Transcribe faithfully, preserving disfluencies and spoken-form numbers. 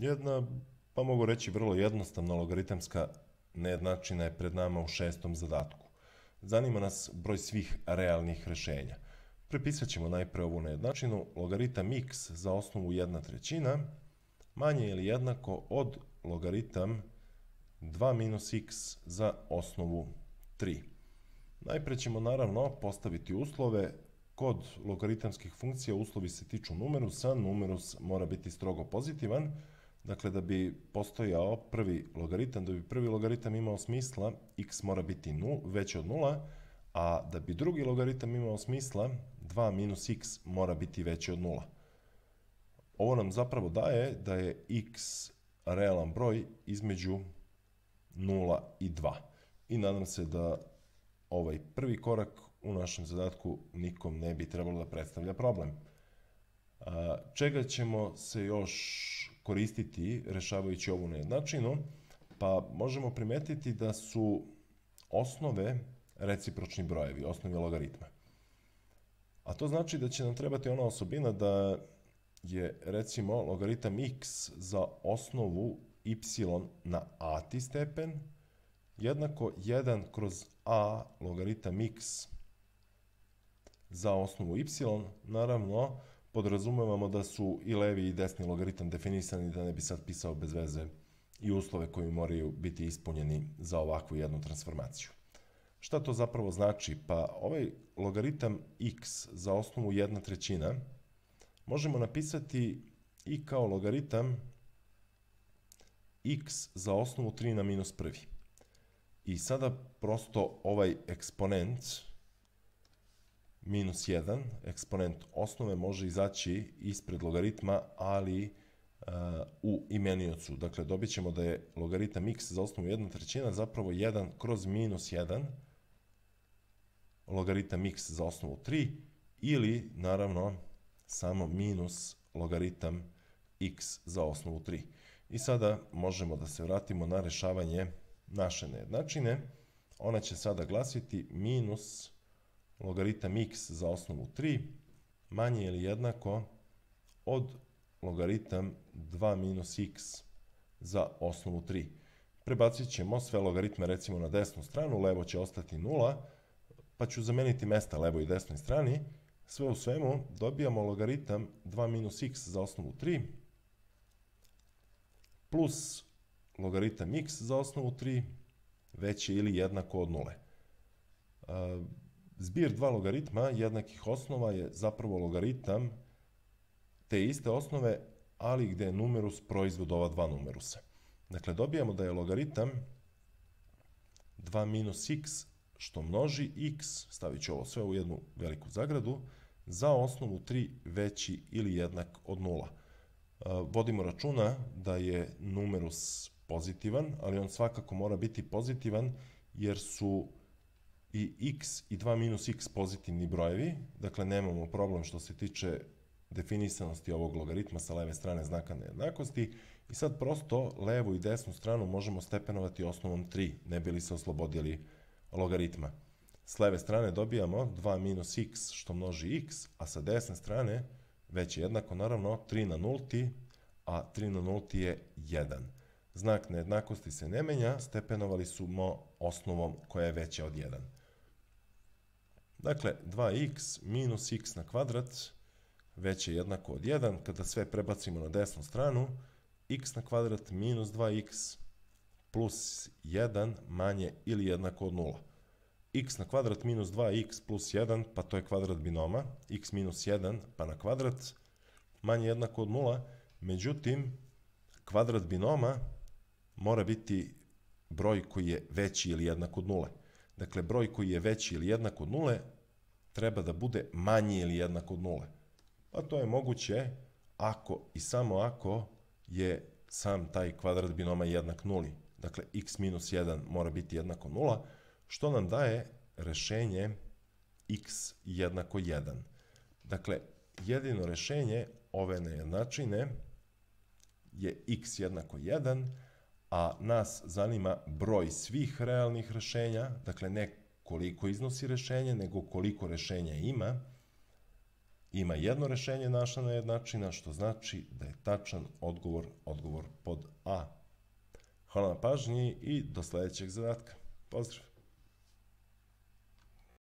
Jedna, pa mogu reći vrlo jednostavna logaritamska nejednačina je pred nama u šestom zadatku. Zanima nas broj svih realnih rešenja. Prepisat ćemo najpre ovu nejednačinu. Logaritam x za osnovu jedna trećina manje ili jednako od logaritam dva minus x za osnovu tri. Najpre ćemo naravno postaviti uslove. Kod logaritamskih funkcija uslovi se tiču numerusa. Numerus mora biti strogo pozitivan. Dakle, da bi postojao prvi logaritam, da bi prvi logaritam imao smisla, x mora biti veće od nula, a da bi drugi logaritam imao smisla, dva minus x mora biti veće od nula. Ovo nam zapravo daje da je x realan broj između nula i dva. I nadam se da ovaj prvi korak u našem zadatku nikom ne bi trebalo da predstavlja problem. Čega ćemo se još koristiti rešavajući ovu nejednačinu? Pa možemo primetiti da su osnove recipročni brojevi, osnovi logaritma. A to znači da će nam trebati ona osobina da je, recimo, logaritam x za osnovu y na a-ti stepen jednako jedan kroz a logaritam x za osnovu y. Naravno, podrazumevamo da su i levi i desni logaritam definisani, da ne bi sad pisao bez veze i uslove koji moraju biti ispunjeni za ovakvu jednu transformaciju. Šta to zapravo znači? Pa ovaj logaritam x za osnovu jedna trećina možemo napisati i kao logaritam x za osnovu tri na minus prvi. I sada prosto ovaj eksponent minus jedan, eksponent osnove, može izaći ispred logaritma, ali uh, u imeniocu. Dakle, dobit ćemo da je logaritam x za osnovu jedna trećina zapravo jedan kroz minus jedan, logaritam x za osnovu tri, ili, naravno, samo minus logaritam x za osnovu tri. I sada možemo da se vratimo na rešavanje naše nejednačine. Ona će sada glasiti minus logaritam x za osnovu tri manje ili jednako od logaritam dva minus x za osnovu tri. Prebacit ćemo sve logaritme recimo na desnu stranu, levo će ostati nula, pa ću zameniti mesta levoj i desnoj strani. Sve u svemu dobijamo logaritam dva minus x za osnovu tri plus logaritam x za osnovu tri veće ili jednako od nule. Zbir dva logaritma jednakih osnova je zapravo logaritam te iste osnove, ali gde je numerus proizvod ova dva numerusa. Dakle, dobijamo da je logaritam dva minus x što množi x, stavit ću ovo sve u jednu veliku zagradu, za osnovu tri veći ili jednak od nula. Vodimo računa da je numerus pozitivan, ali on svakako mora biti pozitivan jer su i x i dva minus x pozitivni brojevi, dakle nemamo problem što se tiče definisanosti ovog logaritma sa leve strane znaka nejednakosti, i sad prosto levu i desnu stranu možemo stepenovati osnovom tri, ne bi li se oslobodili logaritma. S leve strane dobijamo dva minus x što množi x, a sa desne strane već je jednako, naravno, tri na nulti, a tri na nulti je jedan. Znak nejednakosti se ne menja, stepenovali smo osnovom koja je veća od jedan. Dakle, dva x minus x na kvadrat veće jednako od jedan. Kada sve prebacimo na desnu stranu, x na kvadrat minus dva x plus jedan manje ili jednako od nula. X na kvadrat minus dva x plus jedan, pa to je kvadrat binoma, x minus jedan pa na kvadrat, manje jednako od nula. Međutim, kvadrat binoma mora biti broj koji je veći ili jednak od nule. Dakle, broj koji je veći ili jednak od nule treba da bude manji ili jednak od nule. Pa to je moguće ako i samo ako je sam taj kvadrat binoma jednak nuli. Dakle, x minus jedan mora biti jednako nula, što nam daje rešenje x jednako jedan. Dakle, jedino rešenje ove nejednačine je x jednako jedan, a nas zanima broj svih realnih rešenja, dakle ne koliko iznosi rešenje, nego koliko rešenja ima. ima jedno rešenje naša nejednačina, što znači da je tačan odgovor odgovor pod A. Hvala na pažnji i do sledećeg zadatka. Pozdrav!